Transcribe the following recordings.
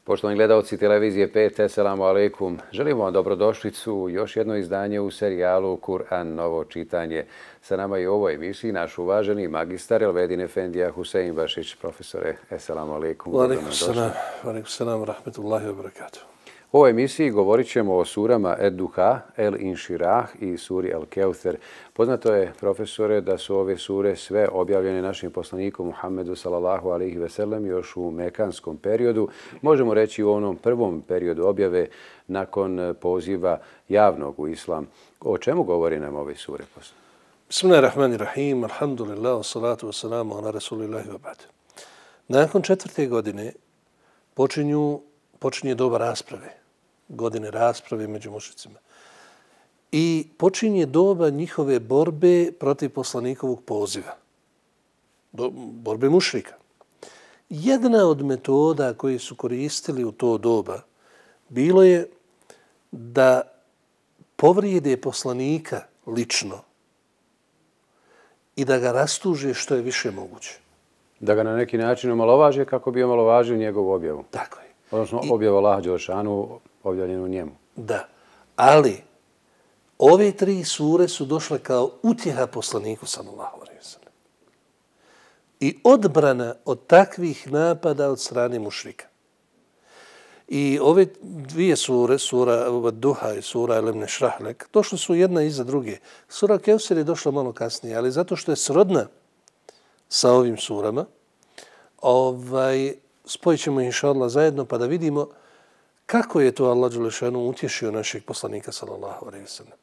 Poštovani gledalci televizije 5, assalamu alaikum. Želimo vam dobrodošlicu u još jedno izdanje u serijalu Kur'an novo čitanje. Sa nama i u ovoj emisiji naš uvaženi magistar Elvedin Efendija Husein Bašić. Profesore, assalamu alaikum. Alaikum salam, rahmetullahi wa barakatuh. U ovoj emisiji govorit ćemo o surama Ed-Duha, El-Inširah i suri El-Keuther. Poznato je, profesore, da su ove sure sve objavljene našim poslanikom Muhammedu sallallahu alaihi ve sellem još u mekanskom periodu. Možemo reći u onom prvom periodu objave nakon poziva javnog u islam. O čemu govori nam ove sure? Bismillahirrahmanirrahim, alhamdulillah, salatu wassalamu ala rasulillahi wa ba'd. Nakon 4. godine počinje doba rasprave, godine rasprave među mušicima. I počinje doba njihove borbe protiv poslanikovog poziva, borbe mušrika. Jedna od metoda koje su koristili u to doba bilo je da povrijede poslanika lično i da ga rastuže što je više moguće. Da ga na neki način omalovaže kako bi omalovažio njegovu objavu. Tako je. Odnosno objavu Allaha Đelešanu objavljenu njemu. Da, ali ove 3 sure su došle kao utjeha poslaniku sallallahu alejhi ve sellem. I odbrana od takvih napada od strane mušrika. I ove 2 sure, sura Duha i sura El-Inširah, došle su jedna iza druge. Sura Keuther je došla malo kasnije, ali zato što je srodna sa ovim surama, spojit ćemo inša Allah zajedno pa da vidimo kako je to Allah Đelešanu utješio našeg poslanika sallallahu alejhi ve sellem.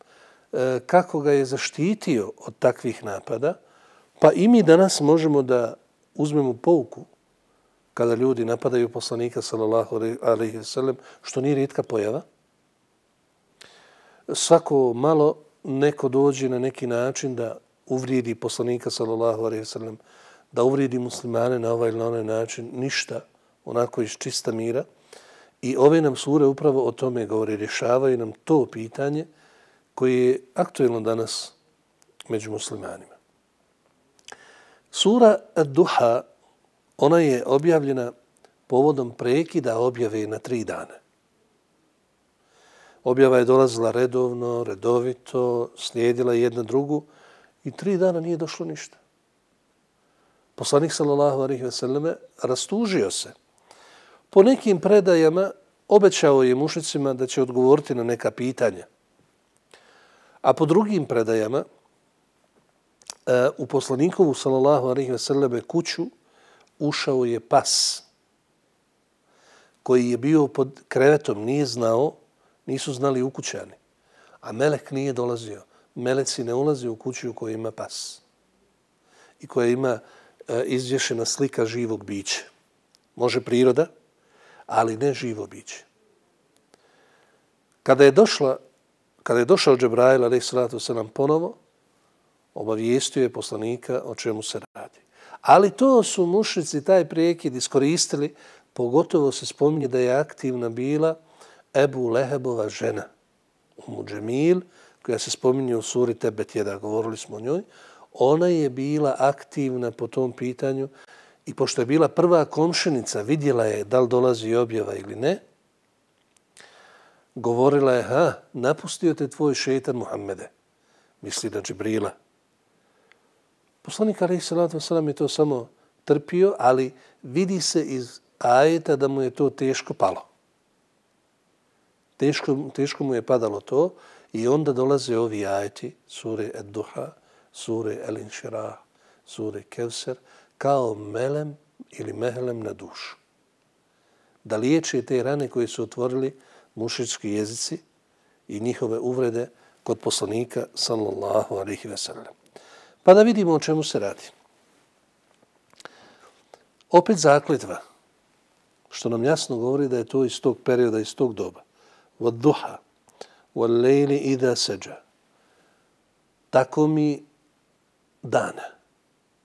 Kako ga je zaštitio od takvih napada, pa i mi danas možemo da uzmemo pouku kada ljudi napadaju poslanika sallallahu alejhi ve sellem, što nije rijetka pojava. Svako malo neko dođe na neki način da uvrijedi poslanika sallallahu alejhi ve sellem, da uvrijedi muslimane na ovaj ili na onaj način, ništa, onako iz čista mira. I ove nam sure upravo o tome govori, rješavaju nam to pitanje koje je aktuelno danas među muslimanima. Sura Ad-Duha, ona je objavljena povodom prekida objave na 3 dana. Objava je dolazila redovito, slijedila jedna drugu i 3 dana nije došlo ništa. Poslanik sallallahu alejhi ve selleme rastužio se. Po nekim predajama obećao je mušicima da će odgovoriti na neka pitanja. A po drugim predajama u poslanikovu sallallahu alejhi ve selleme kuću ušao je pas koji je bio pod krevetom, nisu znali ukućani. A melek nije dolazio. Meleci ne ulaze u kuću u kojoj ima pas i koja ima izvješena slika živog bića. Može priroda, ali ne živo biće. Kada je došao Džebrail alejhi salatu vesselam ponovo, obavijestio je poslanika o čemu se radi. Ali to su mušrici taj prekid iskoristili, pogotovo se spominje da je aktivna bila Ebu Lehebova žena, Umu Džemil, koja se spominje u suri Tebet Jeda, govorili smo o njoj. Ona je bila aktivna po tom pitanju i pošto je bila prva komšinica, vidjela je da li dolazi objava ili ne, govorila je, napustio te tvoj šeitan Muhammede, misli na Džibrila. Poslanik alejhi salatu vesselam je to samo trpio, ali vidi se iz ajeta da mu je to teško palo. Teško mu je padalo to i onda dolaze ovi ajeti, sure Ed-Duha, sure El-Inširah, sure Keuther, kao melem ili mehlem na dušu. Da liječe te rane koje su otvorili mušički jezici i njihove uvrede kod poslanika sallallahu alejhi ve sellem. Pa da vidimo o čemu se radi. Opet zakletva, što nam jasno govori da je to iz tog perioda, iz tog doba. Vad-duha, wal-lejli idha seđa. Tako mi dana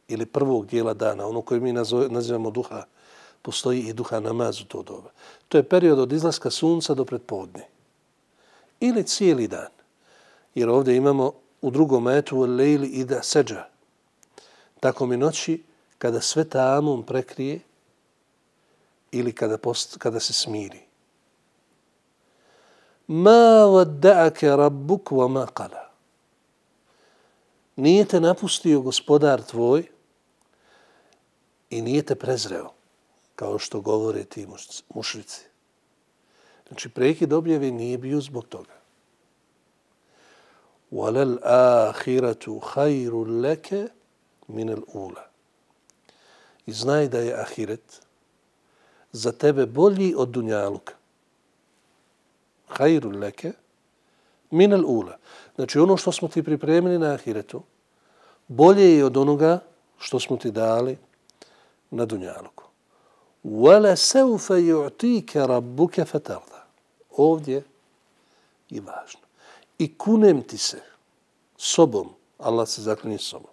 ili prvog dijela dana, ono koje mi nazivamo duha, postoji i duha namaz u to doba. To je period od izlaska sunca do predpodne. Ili cijeli dan. Jer ovdje imamo u drugom ajetu lejli ida seđa. Tako mi noći kada sve tamom prekrije ili kada se smiri. Ma wadda'aka rabbuk wa ma qala. Nije te napustio gospodar tvoj i nije te prezreo, kao što govore ti mušrici. Znači, prekid objave nije bio zbog toga. وَلَلْ آخِرَةُ خَيْرٌ لَكَ مِنَ الْأُولَى. I znaj da je ahiret za tebe bolji od dunjaluka. خَيْرٌ لَكَ مِنَ الْأُولَى. Znači, ono što smo ti pripremili na ahiretu, bolje je od onoga što smo ti dali na dunjaluku. وَلَا سَوْفَ يُعْتِيكَ رَبُّكَ فَتَرْضَ. Ovdje je važno. I kunem ti se sobom, Allah se zaklinje sobom,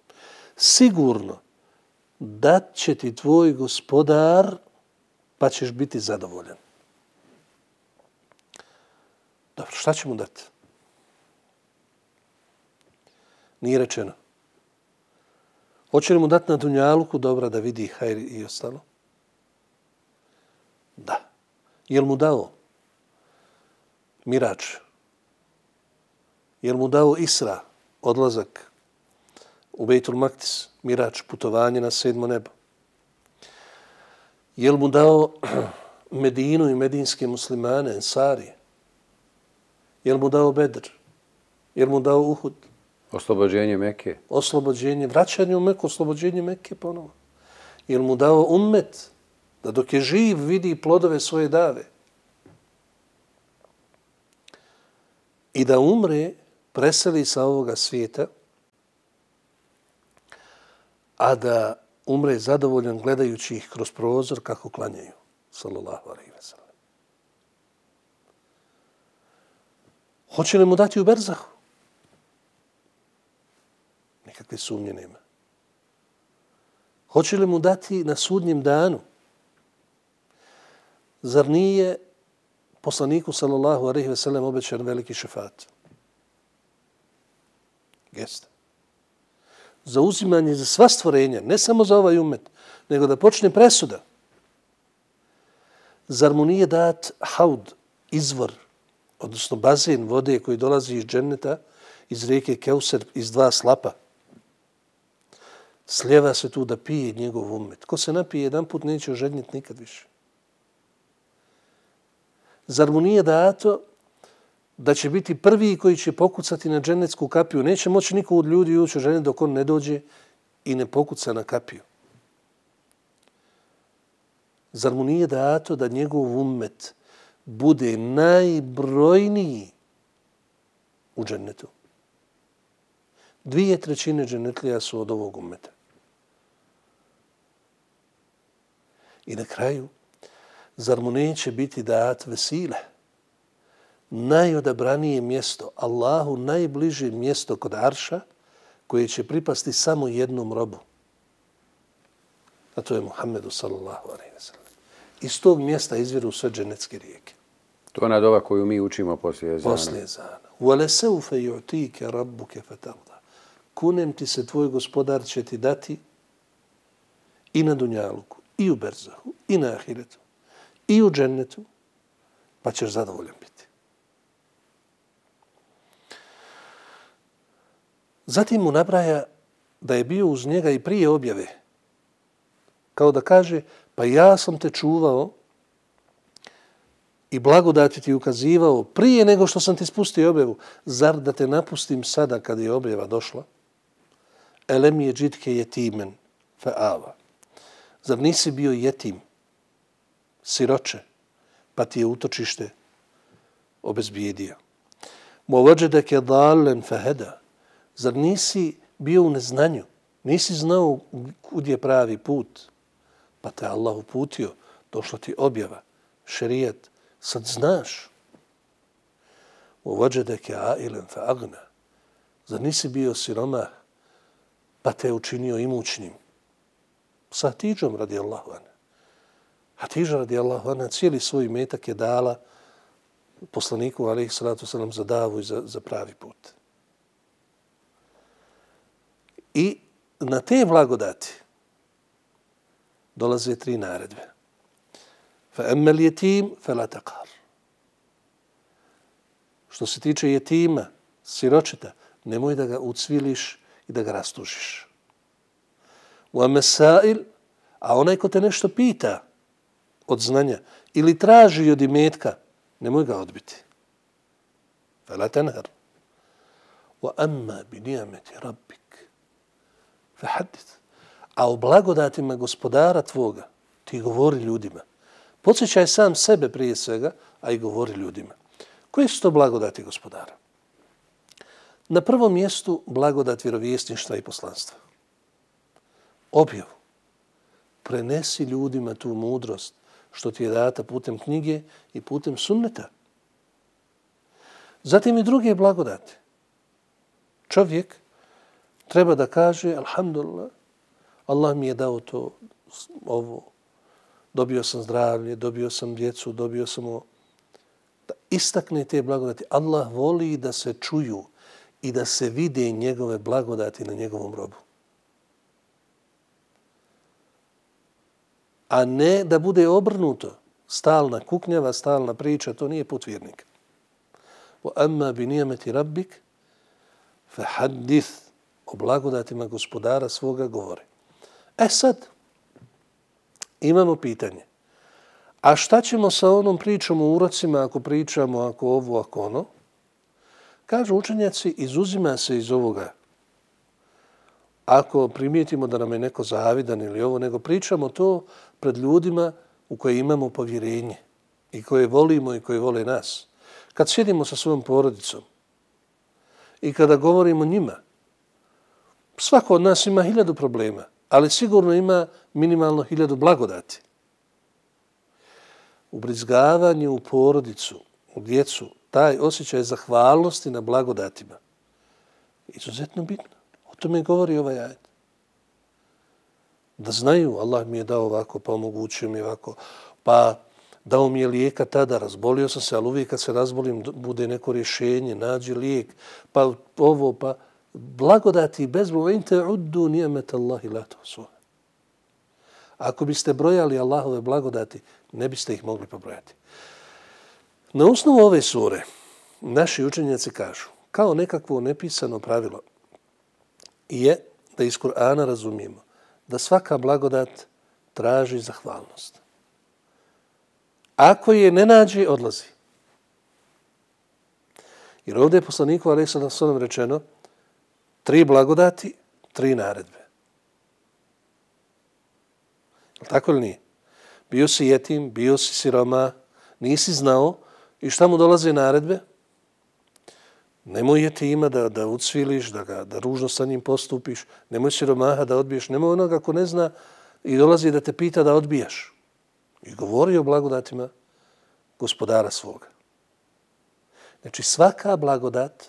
sigurno dat će ti tvoj gospodar pa ćeš biti zadovoljan. Dobro, šta će mu dati? Nije rečeno. Hoće li mu dati na dunjaluku dobra da vidi hajr i ostalo? Da. Je li mu dao mirač? Je li mu dao Isra, odlazak u Bejtul Maktis, mirač, putovanje na 7. nebo? Je li mu dao Medinu i medinske muslimane, Ensarije? Je li mu dao Bedr? Je li mu dao Uhud? Oslobođenje Mekke. Oslobođenje, vraćanje u Meku, oslobođenje Mekke ponovo. Je li mu dao ummet da dok je živ vidi plodove svoje dave? I da umre, preseli sa ovoga svijeta, a da umre zadovoljan gledajući ih kroz prozor kako klanjaju. Sallallahu alejhi ve sellem. Hoće li mu dati u berzahu? Nikakve sumnje nema. Hoće li mu dati na sudnjem danu? Zar nije poslaniku sallallahu alejhi ve sellem obećan veliki šefat? Jeste. Za uzimanje za sva stvorenja, ne samo za ovaj ummet, nego da počne presuda. Zar mu nije dat haud, izvor, odnosno bazen vode koji dolazi iz dženneta, iz rijeke Keuser, iz 2 slapa? Slijeva se tu da pije njegov ummet. Ko se napije jedan put, neće ožednjeti nikad više. Zar mu nije dato da će biti prvi koji će pokucati na džennetsku kapiju? Neće moći niko od ljudi ući u džennet dok on ne dođe i ne pokuca na kapiju. Zar mu nije dato da njegov ummet bude najbrojniji u džennetu? 2/3 džennetlija su od ovog ummeta. I na kraju, zar mu neće biti dat vesile? Najodabranije mjesto, Allahu najbliže mjesto kod Arša, koje će pripasti samo jednom robu. A to je Muhammedu sallallahu alejhi ve sellem. Iz tog mjesta izviru sve dženetske rijeke. To je ona dova koju mi učimo poslije ezana. Poslije ezana. وَلَسَوْفَ يُعْتِيكَ رَبُّكَ فَتَرْضَى. Kunem ti se, tvoj gospodar će ti dati i na dunjaluku, i u berzahu, i na ahiretu, i u džennetu, pa ćeš zadovoljan biti. Zatim mu nabraja da je bio uz njega i prije objave. Kao da kaže, pa ja sam te čuvao i blagodati ti ukazivao prije nego što sam ti spustio objavu. Zar da te napustim sada kad je objava došla? Elem je džitke jetimen fa ava. Zar nisi bio jetim, siroče, pa ti je utočište obezbijedio? Mo vađedeke dalen fa heda. Zar nisi bio u neznanju? Nisi znao kud je pravi put? Pa te Allah uputio, došla ti objava, šerijat, sad znaš. Uvađedeke ailen fa agna. Zar nisi bio siromah, pa te učinio imućnim? Sa Hatidžom radijallahu anha. Hatidža radijallahu anha cijeli svoj metak je dala poslaniku alejhi salatu selam za davu i za pravi put. I na te blagodati dolaze 3 naredbe. فَأَمَّا الْيَتِيمُ فَلَا تَقْهَرْ. Što se tiče jetima, siročeta, nemoj da ga ucviliš i da ga rastužiš. وَأَمَّا السَّائِلُ, a onaj ko te nešto pita od znanja ili traži od imetka, nemoj ga odbiti. فَلَا تَنْهَرْ. وَأَمَّا بِنِعْمَةِ رَبِّكَ فَحَدِّثْ. A o blagodatima gospodara tvoga ti govori ljudima. Podsjećaj sam sebe prije svega, a i govori ljudima. Koje su to blagodati gospodara? Na prvom mjestu blagodat vjerovjesništva i poslanstva. Objavu. Prenesi ljudima tu mudrost što ti je data putem knjige i putem sunneta. Zatim i druge blagodati. Čovjek treba da kaže alhamdulillah, Allah mi je dao to, ovo, dobio sam zdravlje, dobio sam djecu, dobio sam ovo. Da istakne te blagodati. Allah voli da se čuju i da se vide njegove blagodati na njegovom robu. A ne da bude obrnuto. Stalna kuknjava, stalna priča, to nije put vjernika. وَأَمَّا بِنِعْمَةِ رَبِّكَ فَحَدِّثْ. O blagodatima gospodara svoga govori. Sad, imamo pitanje. A šta ćemo sa onom pričom o urocima ako pričamo, ako ovo, ako ono? Kažu učenjaci, izuzima se iz ovoga. Ako primijetimo da nam je neko zavidan ili ovo, nego pričamo to pred ljudima u koje imamo povjerenje i koje volimo i koje vole nas. Kad sjedimo sa svojom porodicom i kada govorimo njima, svako od nas ima 1000 problema, ali sigurno ima minimalno 1000 blagodati. Ubrizgavanje u porodicu, u djecu, taj osjećaj zahvalnosti na blagodatima, izuzetno bitno. O tome govori ovaj ajet. Da znaju, Allah mi je dao ovako, pa omogućio mi ovako, pa dao mi je lijeka tada, razbolio sam se, ali uvijek kad se razbolim bude neko rješenje, nađi lijek, pa ovo, pa blagodati i bezbroj. In ta'uddu ni'mata Allahi la tuhsuha. Ako biste brojali Allahove blagodati, ne biste ih mogli pobrojati. Na osnovu ove sure, naši učenjaci kažu, kao nekakvo nepisano pravilo, je da iz Kur'ana razumijemo da svaka blagodat traži zahvalnost. Ako je ne nađe, odlazi. Jer ovdje je poslaniku alejhi sallam rečeno 3 blagodati, 3 naredbe. Tako li nije? Bio si jetim, bio si siroma, nisi znao i šta mu dolaze naredbe? Nemoj jetima da ucviliš, da ružno sa njim postupiš, nemoj siromaha da odbiješ, nemoj onoga ko ne zna i dolazi da te pita da odbijaš. I govori o blagodatima gospodara svoga. Znači svaka blagodat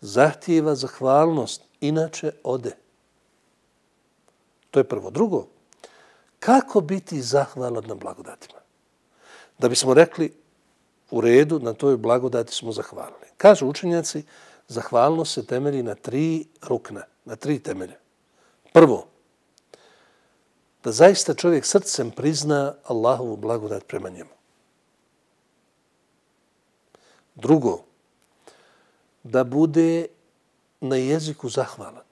zahtijeva zahvalnost, inače ode. To je prvo. Drugo, kako biti zahvalan na blagodatima? Da bismo rekli u redu, na toj blagodati smo zahvalni. Kažu učenjaci, zahvalnost se temelji na 3 rukna, na 3 temelja. Prvo, da zaista čovjek srcem prizna Allahovu blagodat prema njemu. Drugo, da bude na jeziku zahvalan.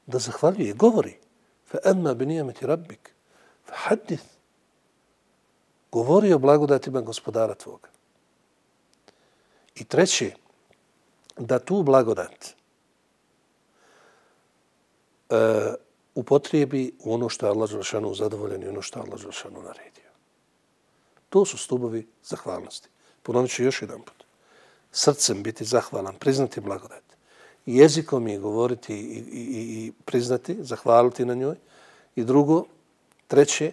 Da zahvaljuje, govori. فَأَمَّا بِنِعْمَةِ رَبِّكَ فَحَدِّثْ. Govori o blagodatima gospodara tvoga. I treće, da tu blagodat upotrijebi u ono što je Allah dželešanu zadovoljen i ono što je Allah dželešanu naredio. To su stubovi zahvalnosti. Ponovit ću još jedan put. Srcem biti zahvalan, priznati blagodat. Jezikom je govoriti i priznati, zahvaliti na njoj. I drugo, treće,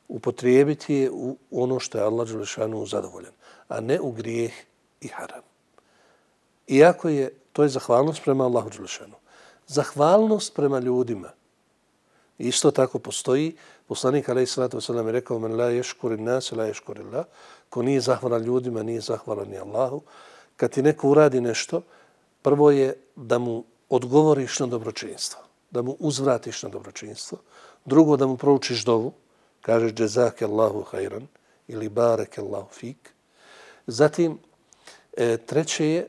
upotrijebiti je u ono što je Allah dželešanu zadovoljen, a ne u grijeh i haram. Iako to je zahvalnost prema Allahu dželešanu. Zahvalnost prema ljudima isto tako postoji. Poslanik alejhi salatu vesselam je rekao: "Men la yashkuri an-nas la yashkuri Allah." Ko nije zahvalan ljudima, nije zahvalan ni Allahu. Kad ti neko uradi nešto, prvo je da mu odgovoriš na dobročinstvo, da mu uzvratiš na dobročinstvo. Drugo, da mu proučiš dovu Kažeš džezake Allahu hajran ili bareke Allahu fik. Zatim, treće je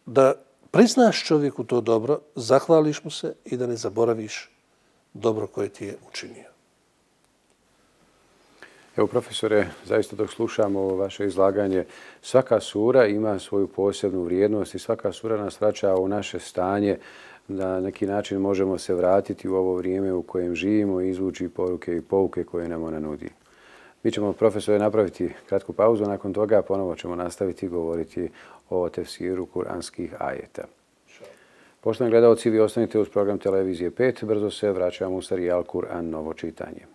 da priznaš čovjeku to dobro, zahvališ mu se i da ne zaboraviš dobro koje ti je učinio. Evo, profesore, zaista dok slušamo vaše izlaganje, svaka sura ima svoju posebnu vrijednost i svaka sura nas vraća u naše stanje. Na neki način možemo se vratiti u ovo vrijeme u kojem živimo i izvući poruke i pouke koje nam ona nudi. Mi ćemo, profesore, napraviti kratku pauzu, nakon toga ponovo ćemo nastaviti govoriti o tefsiru kuranskih ajeta. Poštovani gledalci, vi ostanite uz program Televizije 5. Brzo se vraćamo u serijal Kur'an novo čitanje.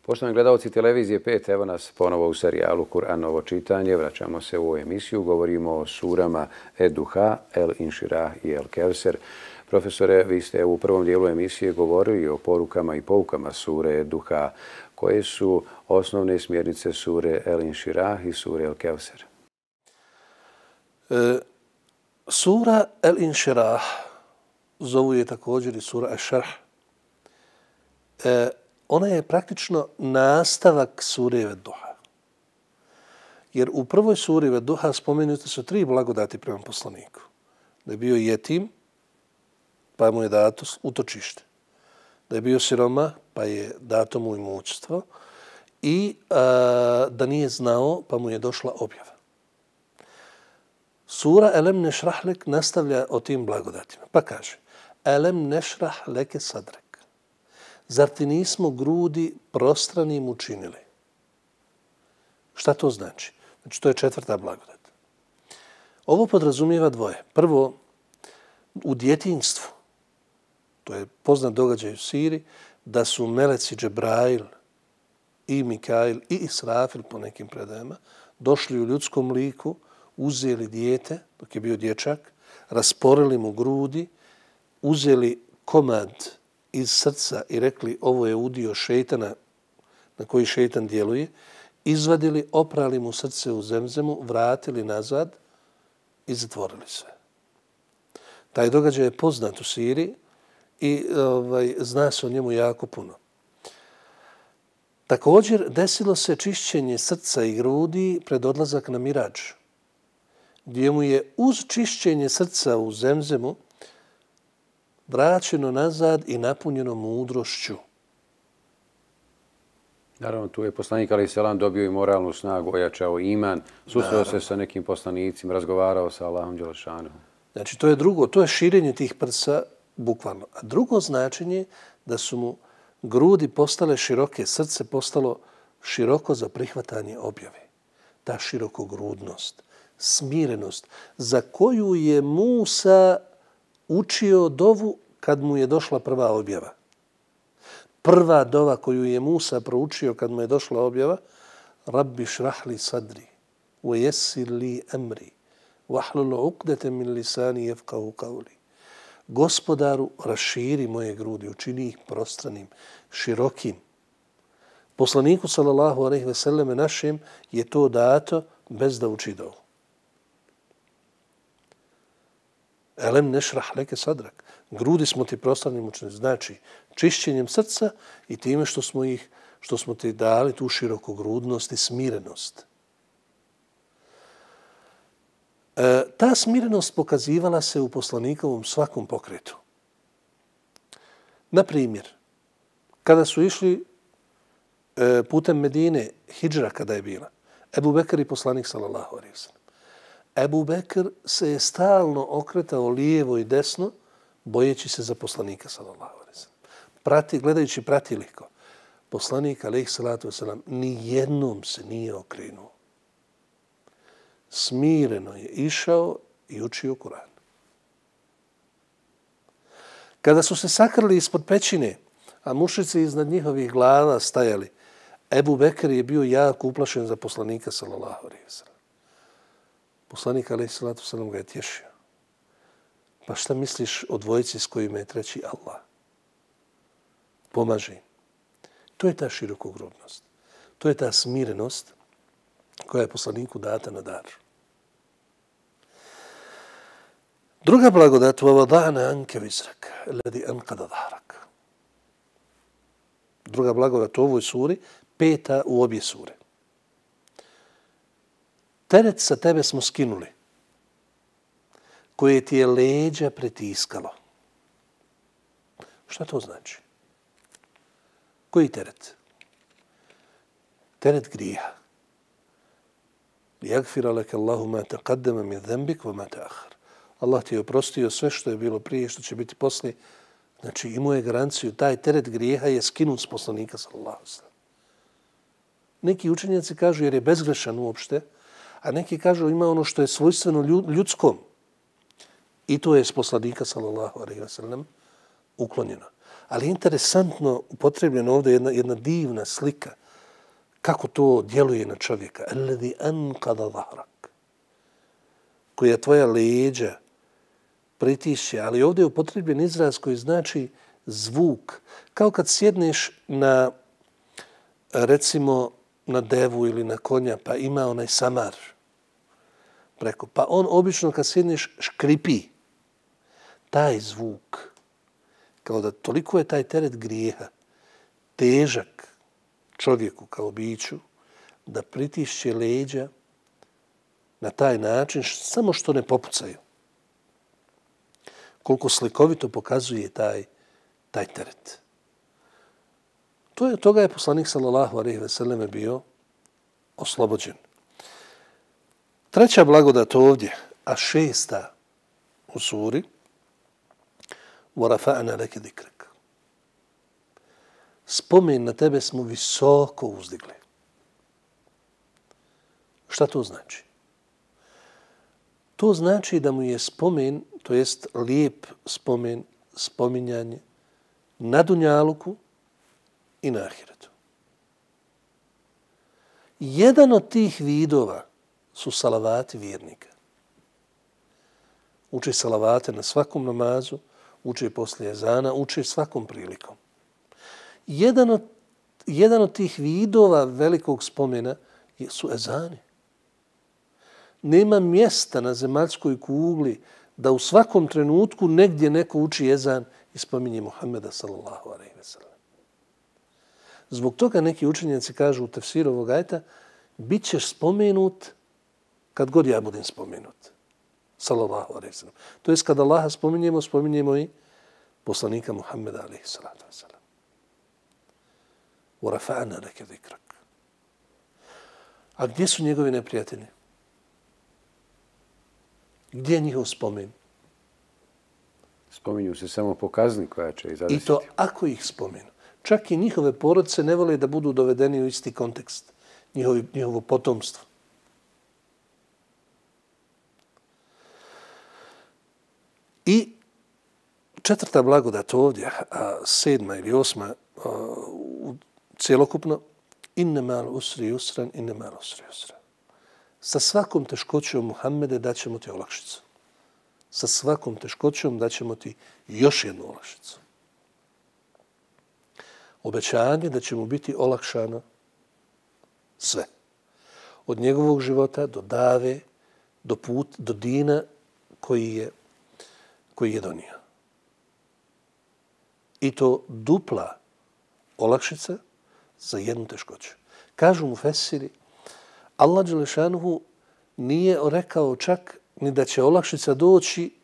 Poštovani gledalci Televizije 5, evo nas ponovo u serijalu Kur'an novo čitanje. Vraćamo se u ovu emisiju, govorimo o surama Ed-Duha, El-Inširah i El-Kevser. Profesore, vi ste u prvom dijelu emisije govorili o porukama i poukama sure Ed-Duha. Koje su osnovne smjernice sure El-Inširah i sure El-Kevser? Sura El-Inširah, zovu je također i sura Eš-Šarh. Ona je praktično nastavak sure Ed-Duha. Jer u prvoj suri Ed-Duha spomenute su 3 blagodati prema poslaniku. Da je bio jetim, pa mu je dato utočište. Da je bio siroma, pa je dato mu imućstvo. I da nije znao, pa mu je došla objava. Sura Elem nešrah lek nastavlja o tim blagodatima. Pa kaže, Elem nešrah leke sadrek. Zar ti nismo grudi prostranim učinili? Šta to znači? Znači, to je 4. blagodat. Ovo podrazumijeva dvoje. Prvo, u djetinjstvu, to je poznat događaj u Siri, da su meleci Džebrail i Mikail i Israfil po nekim predajama došli u ljudskom liku, uzeli dijete, dok je bio dječak, rasporili mu grudi, uzeli komad iz srca i rekli ovo je udio šejtana na koji šejtan djeluje, izvadili, oprali mu srce u zemzemu, vratili nazad i zatvorili sve. Taj događaj je poznat u Siriji i zna se o njemu jako puno. Također desilo se čišćenje srca i grudi pred odlazak na Miradž, gdje mu je uz čišćenje srca u zemzemu vraćeno nazad i napunjeno mudrošću. Naravno, tu je poslanik alejhi selam dobio i moralnu snagu, ojačao iman, susreo se sa nekim poslanicima, razgovarao sa Allahom dželešanom. Znači, to je drugo, to je širenje tih prsa bukvalno. A drugo značenje da su mu grudi postale široke, srce postalo široko za prihvatanje objave. Ta širokogrudnost, smirenost, za koju je Musa učio dovu kad mu je došla prva objava. Prva dova koju je Musa proučio kad mu je došla objava, Rabbi šrahli sadri, wa yessir li amri, wahlul uqdatan min lisani yafqahu qawli. Gospodaru, raširi moje grudi, učini ih prostranim, širokim. Poslaniku sallallahu alejhi ve selleme našem je to dato bez da uči dovu. Elem nešrah leke sadrak. Grudi smo ti prostranim učinili. Znači, čišćenjem srca i time što smo ti dali tu širokogrudnost i smirenost. Ta smirenost pokazivala se u poslanikovom svakom pokretu. Na primjer, kada su išli putem Medine, hidžra kada je bila, Ebu Bekr i poslanik sallallahu alejhi ve sellem. Ebu Bekr se je stalno okretao lijevo i desno, bojeći se za poslanika sallallahu alejhi ve sellem. Gledajući pratiliko, poslanik alejhi salatu vesselam ni jednom se nije okrenuo. Smireno je išao i učio Kur'an. Kada su se sakrili ispod pećine, a mušici iznad njihovih glava stajali, Ebu Bekr je bio jako uplašen za poslanika sallallahu alejhi ve sellem. Poslanik alejhi salatu vesselam ga je tješio. Pa šta misliš o dvojici s kojima je treći Allah? Pomaži. To je ta širokogrudnost. To je ta smirenost koja je poslaniku data na dar. Druga blagodat, وَوَضَعْنَا عَنْكَ وِزْرَكَ الَّذِي أَنْقَضَ ظَهْرَكَ. Druga blagodat u ovoj suri, 5. u obje sure. Teret sa tebe smo skinuli, koje ti je leđa pretiskalo. Šta to znači? Koji teret? Teret grijeha. لِيَغْفِرَ لَكَ اللَّهُ مَا تَقَدَّمَ مِنْ ذَنْبِكَ وَمَا تَأَخَّرَ. Allah ti je oprostio sve što je bilo prije, što će biti poslije. Znači, imao je garanciju, taj teret grijeha je skinut s poslanika, sallallahu alejhi ve sellem. Neki učenjaci kažu jer je bezgrešan uopšte, a neki kažu ima ono što je svojstveno ljudskom. I to je s poslanika, sallallahu alejhi ve sellem, uklonjeno. Ali interesantno upotrebljeno ovdje jedna divna slika kako to djeluje na čovjeka. Alladhi anqada zahrak. Koja tvoja leđa pritišće, ali ovdje je upotrebljen izraz koji znači zvuk. Kao kad sjedneš na, recimo, na devu ili na konja, pa ima onaj samar preko. Pa on obično kad sjedneš škripi. Taj zvuk, kao da toliko je taj teret grijeha težak čovjeku kao biću, da pritišće leđa na taj način, samo što ne popucaju. Koliko slikovito pokazuje taj teret. Toga je poslanik sallallahu alejhi ve selleme bio oslobođen. Treća blagodat ovdje, a 6. u suri, وَرَفَعْنَا لَكَ ذِكْرَكَ. Spomen na tebe smo visoko uzdigli. Šta to znači? To znači da mu je spomen, to jest lijep spomen, spominjanje na dunjaluku i na ahiretu. Jedan od tih vidova su salavati vjernika. Uče salavate na svakom namazu, uče poslije ezana, uče svakom prilikom. Jedan od tih vidova velikog spomena su ezani. Nema mjesta na zemaljskoj kugli da u svakom trenutku negdje neko uči ezan i spominje Muhammeda sallallahu alejhi ve sellem. Zbog toga neki učenjaci kažu u tefsiru ovog ajeta, bit ćeš spomenut kad god ja budem spomenut. Sallallahu alejhi ve sellem. To jest kad Allaha spominjemo i poslanika Muhammeda alejhi salatu vesselam. وَرَفَعْنَا لَكَ ذِكْرَكَ. A gdje su njegovi neprijatelji? Gdje je njihov spomen? Spominju se samo po kazni koja će ih zadesiti. I to ako ih spomenu. Čak i njihove porodice ne vole da budu dovedeni u isti kontekst. Njihovo potomstvo. I 4. blagodat ovdje, a 7. ili 8. Cijelokupno, inne mal usri usran, inne mal usri usran. Sa svakom teškoćom, Muhammede, daćemo ti olakšicu. Sa svakom teškoćom daćemo ti još jednu olakšicu. Obećanje da će mu biti olakšano sve. Od njegovog života do dave, do dina koji je donio. I to dupla olakšica za jednu teškoću. Kažu mu fesiri, Allah dželešanuhu nije rekao čak ni da će olakšica doći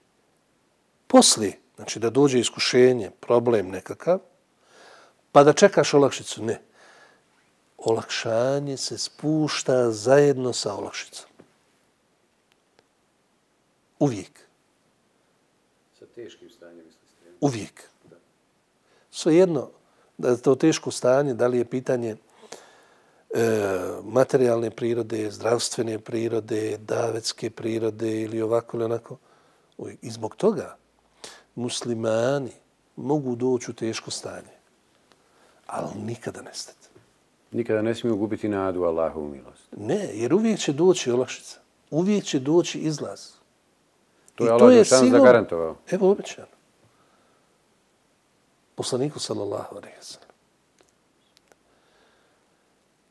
poslije, znači da dođe iskušenje, problem nekakav, pa da čekaš olakšicu. Ne. Olakšanje se spušta zajedno sa olakšicom. Uvijek. Sa teškim stanjem, mislite? Uvijek. Svejedno, da je to teško stanje, da li je pitanje materijalne prirode, zdravstvene prirode, davetske prirode ili ovako ili onako. I zbog toga muslimani mogu doći u teško stanje, ali nikada nestati. Nikada ne smiju gubiti nadu Allahovu milost. Ne, jer uvijek će doći olakšica. Uvijek će doći izlaz. To je Allah Đelešanu zagarantovao. Evo obećano. Poslaniku sallallahu alejhi ve sellem.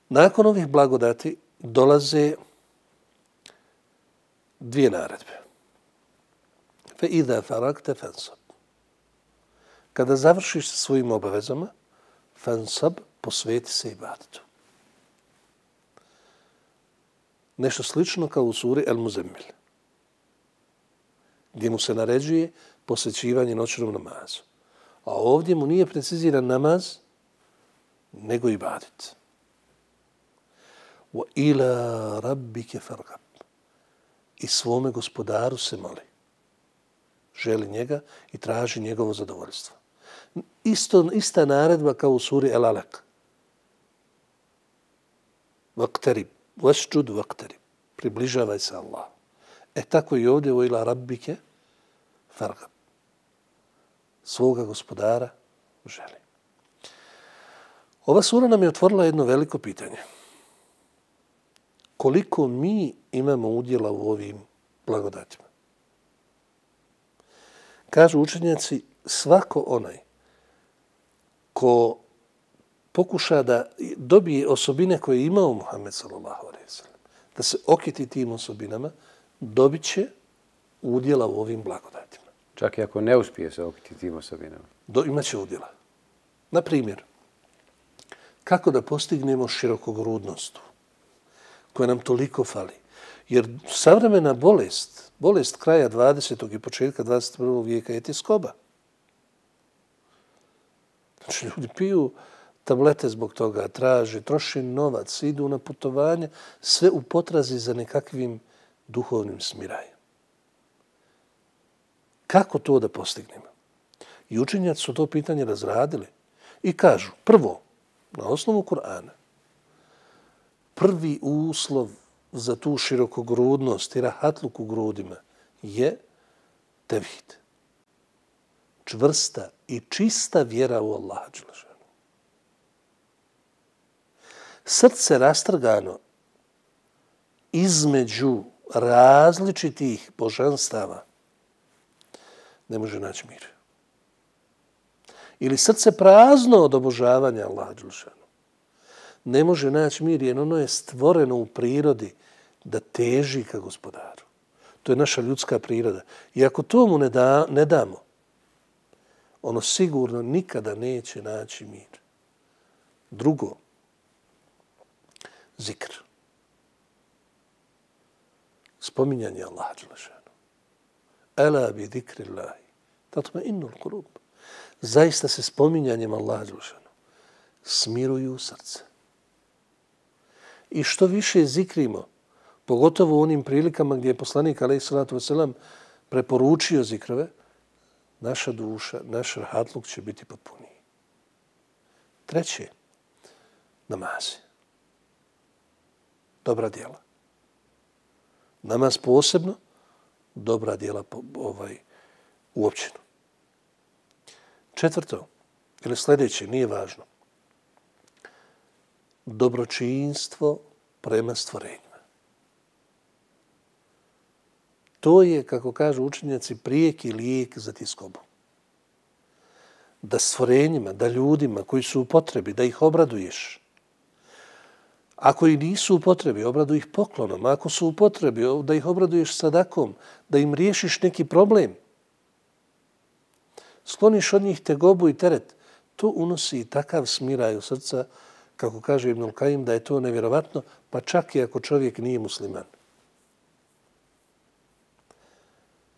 Nakon ovih blagodati dolaze dvije naredbe. Fe idha faragte fansab. Kada završiš sa svojim obavezama, fansab, posveti se ibadetu. Nešto slično kao u suri El-Muzemmil, gdje mu se naređuje posvećivanje noćnom namazu. A ovdje mu nije preciziran namaz, nego ibadet. Wa ila rabbike fargab. I svome gospodaru se moli. Želi njega i traži njegovo zadovoljstvo. Ista naredba kao u suri El-Alaq. Vaktarib. Vasđud vaktarib. Približavaj se Allah. Tako i ovdje wa ila rabbike fargab. Svoga gospodara želi. Ova sura nam je otvorila jedno veliko pitanje. Koliko mi imamo udjela u ovim blagodatima? Kažu učenjaci, svako onaj ko pokuša da dobije osobine koje je imao Muhammed sallallahu alejhi ve sellem, da se okiti tim osobinama, dobit će udjela u ovim blagodatima. Čak i ako ne uspije se okiti tim osobinama. Imaće udjela. Na primjer, kako da postignemo širokogrudnost koja nam toliko fali? Jer savremena bolest kraja 20. i početka 21. vijeka je tjeskoba. Znači, ljudi piju tablete zbog toga, traže, troše novac, idu na putovanje, sve u potrazi za nekakvim duhovnim smirajem. Kako to da postignemo? I učenjaci su to pitanje razradili i kažu, prvo, na osnovu Kur'ana, prvi uslov za tu širokogrudnost i rahatluk u grudima je tevhid. Čvrsta i čista vjera u Allaha dželešanu. Srce rastrgano između različitih božanstava ne može naći mir. Ili srce prazno od obožavanja Allaha dželešanu ne može naći mir, jer ono je stvoreno u prirodi da teži ka gospodaru. To je naša ljudska priroda. I ako to mu ne damo, ono sigurno nikada neće naći mir. Drugo, zikr. Spominjanje Allaha dželešanu. Ela bi zikrillahi tatma'innul qulub. Zaista se spominjanjem Allaha dželešanu smiruju srce. I što više zikrimo, pogotovo u onim prilikama gdje je poslanik alejhi salatu vesselam preporučio zikrove, naša duša, naš rahatluk će biti potpuniji. Treće, namazi. Dobra djela. Namaz posebno, dobra djela uopćeno. Četvrto, ili sljedeće, nije važno. Dobročinstvo prema stvorenjima. To je, kako kažu učenjaci, prijeki lijek za tjeskobu. Da stvorenjima, da ljudima koji su u potrebi, da ih obraduješ. Ako i nisu u potrebi, obraduj ih poklonom. Ako su u potrebi, da ih obraduješ sadakom, da im riješiš neki problem. Skloniš od njih tegobu i teret. To unosi takav smiraj u srca, kako kaže Ibnul Kajim, da je to nevjerovatno, pa čak i ako čovjek nije musliman.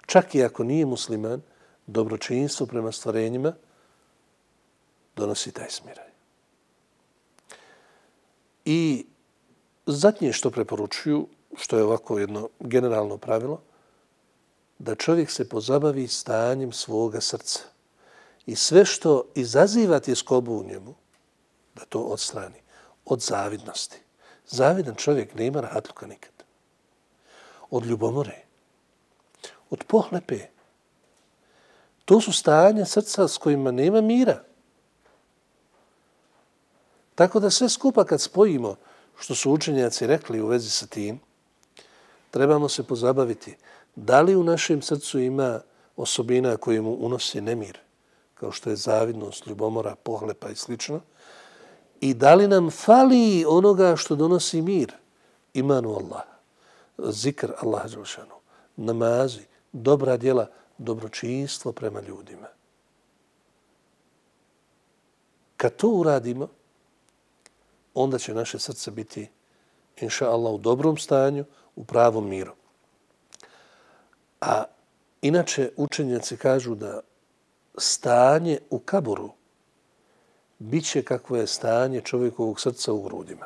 Čak i ako nije musliman, dobročinstvo prema stvorenjima donosi taj smiraj. I zadnje što preporučuju, što je ovako jedno generalno pravilo, da čovjek se pozabavi stanjem svoga srca. I sve što izaziva tjeskobu u njemu, da to odstrani. Od zavidnosti. Zavidan čovjek nema rahatluka nikad. Od ljubomore. Od pohlepe. To su stanja srca s kojima nema mira. Tako da sve skupa kad spojimo, što su učenjaci rekli u vezi sa tim, trebamo se pozabaviti da li u našem srcu ima osobina koje mu unosi nemir, kao što je zavidnost, ljubomora, pohlepa i slično, i da li nam fali onoga što donosi mir, imanu Allah, zikr Allaha dželešanu, namazi, dobra djela, dobročinstvo prema ljudima. Kad to uradimo, onda će naše srce biti, inša Allah, u dobrom stanju, u pravom miru. A inače, učenjaci kažu da stanje u kaburu bit će kakvo je stanje čovjekovog srca u grudima.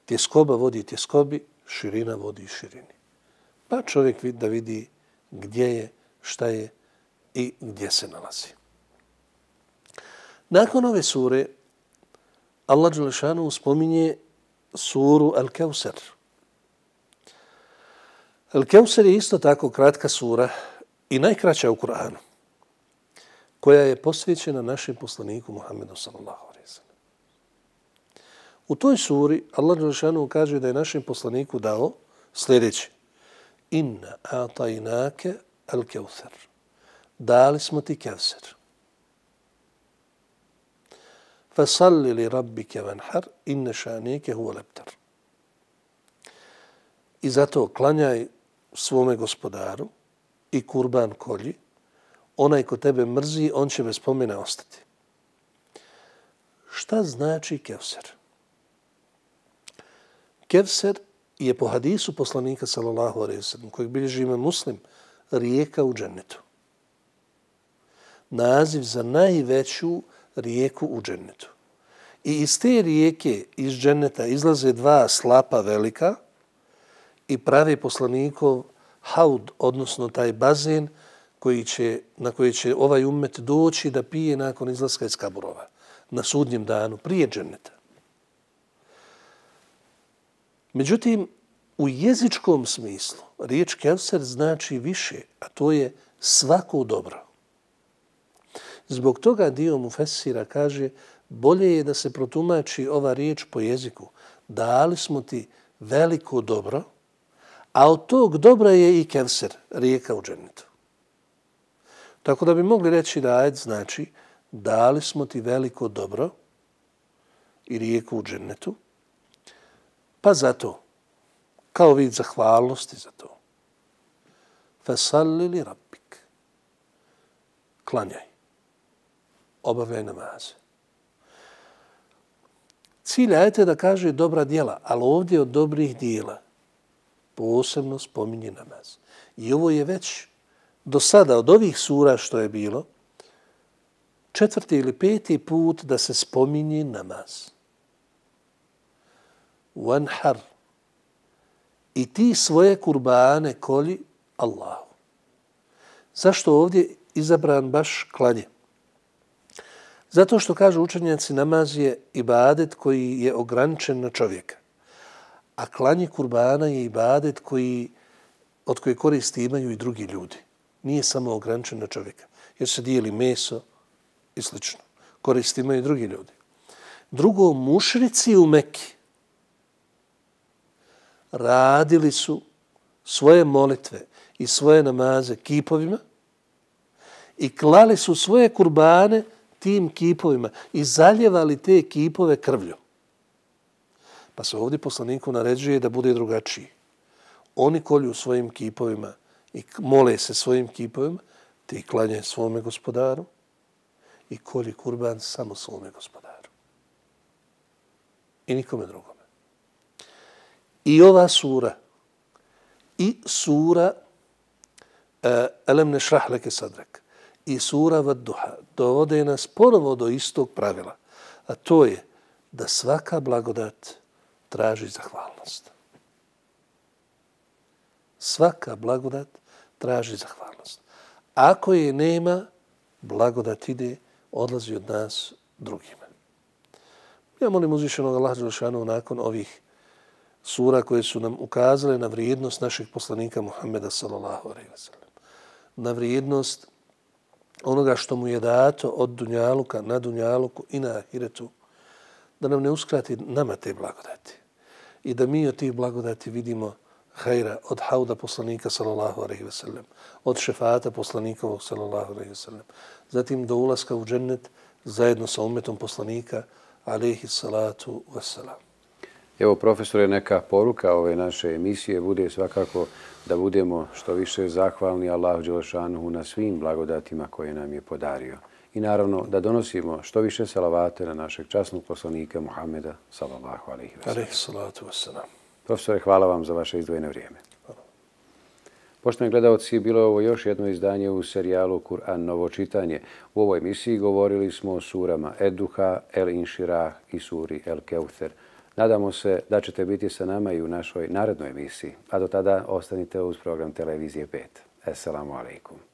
Tjeskoba vodi tjeskobi, širina vodi širini. Pa čovjek da vidi gdje je, šta je i gdje se nalazi. Nakon ove sure, Allah dželešanu spominje suru Al-Kevser. Al-Kevser je isto tako kratka sura i najkraća u Kur'anu, koja je posvećena našem poslaniku Muhammedu sallallahu alejhi ve sellem. U toj suri Allah dželešanu kaže da je našem poslaniku dao sljedeće: Inna a'tajnake al-Kevser. Dali smo ti Kevser. Fasalli li rabbike vanhar, inne šanike huwa lebtar. I zato klanjaj svome gospodaru i kurban kolji. Onaj ko tebe mrzi, on će bez spomena ostati. Šta znači Kevser? Kevser je po hadisu poslanika sallallahu alejhi ve sellem, kojeg bilježi Imam Muslim, rijeka u džennetu. Naziv za najveću rijeku u džennetu. I iz te rijeke, iz dženneta, izlaze dva slapa velika i pravi poslanikov haud, odnosno taj bazen na koji će ovaj ummet doći da pije nakon izlaska iz kaburova na sudnjem danu, prije dženneta. Međutim, u jezičkom smislu riječ Kevser znači više, a to je svako dobro. Zbog toga dio mufesira kaže bolje je da se protumači ova riječ po jeziku. Dali smo ti veliko dobro, a od tog dobra je i Kevser, rijeka u džennetu. Tako da bi mogli reći da ajet znači dali smo ti veliko dobro i rijeku u džennetu, pa zato, kao vid zahvalnosti za to, fasalli li rabbik, klanjaj, obavljaj namaze. Cilj ajeta je da kaže dobra djela, ali ovdje od dobrih djela posebno spominje namaz. I ovo je već do sada od ovih sura što je bilo 4. ili 5. put da se spominje namaz. Wanhar. I ti svoje kurbane kolji Allahu. Zašto ovdje izabran baš klanje? Zato što kažu učenjaci namaz je ibadet koji je ograničen na čovjeka. A klanje kurbana je ibadet od koje koristi imaju i drugi ljudi. Nije samo ograničen na čovjeka. Jer se dijeli meso i slično. Koristi imaju i drugi ljudi. Drugo, mušrici u Meki radili su svoje molitve i svoje namaze kipovima i klali su svoje kurbane tim kipovima i zaljevali te kipove krvlju. Pa se ovdje poslaniku naređuje da bude drugačiji. Oni kolju svojim kipovima i mole se svojim kipovima, ti klanje svome gospodaru i kolji kurban samo svome gospodaru. I nikome drugome. I ova sura i sura Elem nešrah leke sadrak i sura Vadduha dovode nas ponovo do istog pravila, a to je da svaka blagodat traži zahvalnost. Svaka blagodat traži zahvalnost. Ako je nema, blagodat ide, odlazi od nas drugima. Ja molim uzvišenog Allaha dželešanu nakon ovih sura koje su nam ukazale na vrijednost našeg poslanika Muhammeda sallallahu alejhi ve sellem, na vrijednost onoga što mu je dato od dunjaluka na dunjaluku i na ahiretu, da nam ne uskrati nama te blagodati i da mi od tih blagodati vidimo hajra od hauda poslanika sallallahu alejhi ve sellem, od šefata poslanikovog sallallahu alejhi ve sellem, zatim do ulaska u džennet zajedno sa ummetom poslanika alejhi salatu vesselam. Evo, profesore, neka poruka ove naše emisije bude svakako da budemo što više zahvalni Allahu dželešanuhu na svim blagodatima koje nam je podario. I naravno da donosimo što više salavate na našeg časnog poslanika Muhammeda sallallahu alejhi ve sellem. Profesore, hvala vam za vaše izdvojeno vrijeme. Poštovani gledalci, bilo je ovo još jedno izdanje u serijalu Kur'an novo čitanje. U ovoj emisiji govorili smo o surama Ed-Duha, El-Inširah i suri El-Keuther. Nadamo se da ćete biti sa nama i u našoj narednoj emisiji, a do tada ostanite uz program Televizije 5. Esselamu alaikum.